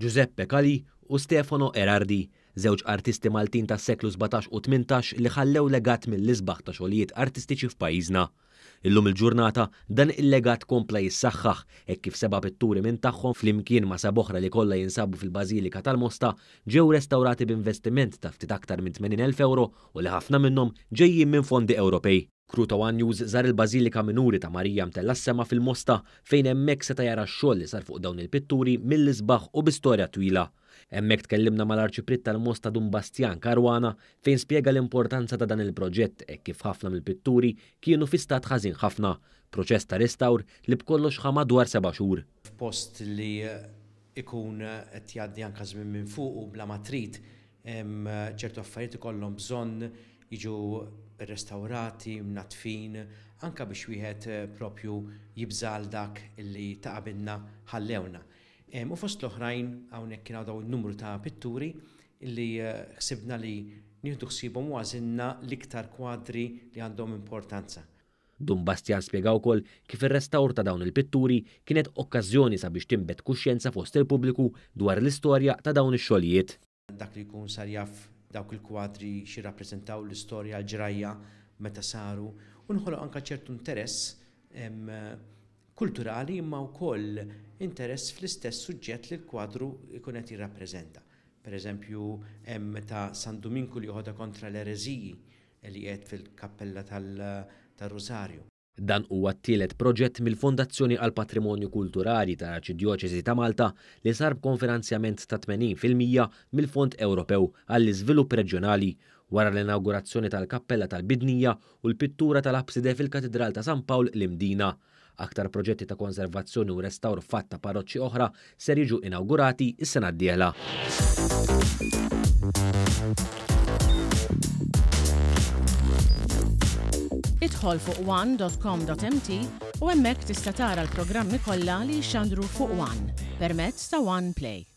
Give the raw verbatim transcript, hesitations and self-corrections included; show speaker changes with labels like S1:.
S1: Giuseppe Calì u Stefano Erardi, żewġ artisti Maltin tas-seklu sbatax u tmintax li ħallew legat mill-isbaħ ta' xogħlijiet artistiċi f'pajjiżna. Illum il-ġurnata dan il-legat kompla jissaħħaħ hekk kif seba' pitturi minn tagħhom flimkien ma' seba' oħra li kollha jinsabu fil-Bażilika tal-Mosta ġew restawrati b'investiment ta' ftit aktar minn tmenin elf euro u li ħafna minnhom ġejjin minn fondi Ewropej. Crew ta' One News żar il-Bażilika Minuri ta' Marija Mtella s-Sema fil-Mosta fejn hemmhekk seta' jara x-xogħol li sar fuq dawn il-pitturi mill-isbaħ u bi storja twila. Hemmhekk tkellimna mal-Arċipriet tal-Mosta Dun Bastjan Caruana fejn spjega l-importanza ta' dan il-proġett hekk kif ħafna mill-pitturi kienu fi stat ħażin ħafna, proċess ta' restawr li b'kollox ħa madwar seba' xhur.
S2: F'post li ikun qed jgħaddi anke żmien minn fuq u bla ma trid, ċertu affarijiet ikollhom bżonn jiġu rrestawrati, mnaddfin, anke biex wieħed propju jibżal dak li ta' qabilna ħallewna. U fost l-oħrajn hawnhekk kien hawn numru ta' pitturi li ħsibna li nieħdu ħsiebhom u għażilna l-iktar kwadri li għandhom importanza.
S1: Dun Bastjan spjega wkoll kif ir-restawr ta' dawn il-pitturi kienet okkażjoni sabiex tinbet kuxjenza fost il-pubbliku dwar l-istorja ta' dawn ix-xogħlijiet.
S2: Dak li jkun sar jaf dawk il-kwadri xi rappreżentaw l-istorja l-ġrajja meta saru u nħoloq anke ċertu interess kulturali imma wkoll interess fl-istess suġġett li l-kwadru jkun qed jirrappreżenta. Per eżempju, hemm ta' San Duminku li joħodha kontra l-ereżiji li qiegħed fil-kappella tal-Rosarju.
S1: Dan huwa t-tielet proġett mill-Fondazzjoni għal Patrimonju Kulturali tal-Arċidjoċesi ta' Malta li sar b'konfinanzjament ta' tmenin fil-mija mill-Fond Ewropew għall-Iżvilupp Reġjonali wara l-inaugurazzjoni tal-Kappella tal-Bidnija u l-pittura tal-Abside fil-Katedral ta' San Pawl l-Imdina. Aktar proġetti ta' konservazzjoni u restawr fatt ta' parroċċi oħra ser jiġu inaugurati s-sena d-dieħla.
S3: Idħol fuq one dot com dot m t u hemmhekk tista' tara l-programmi kollha li jxandru fuq One permezz ta' One Play.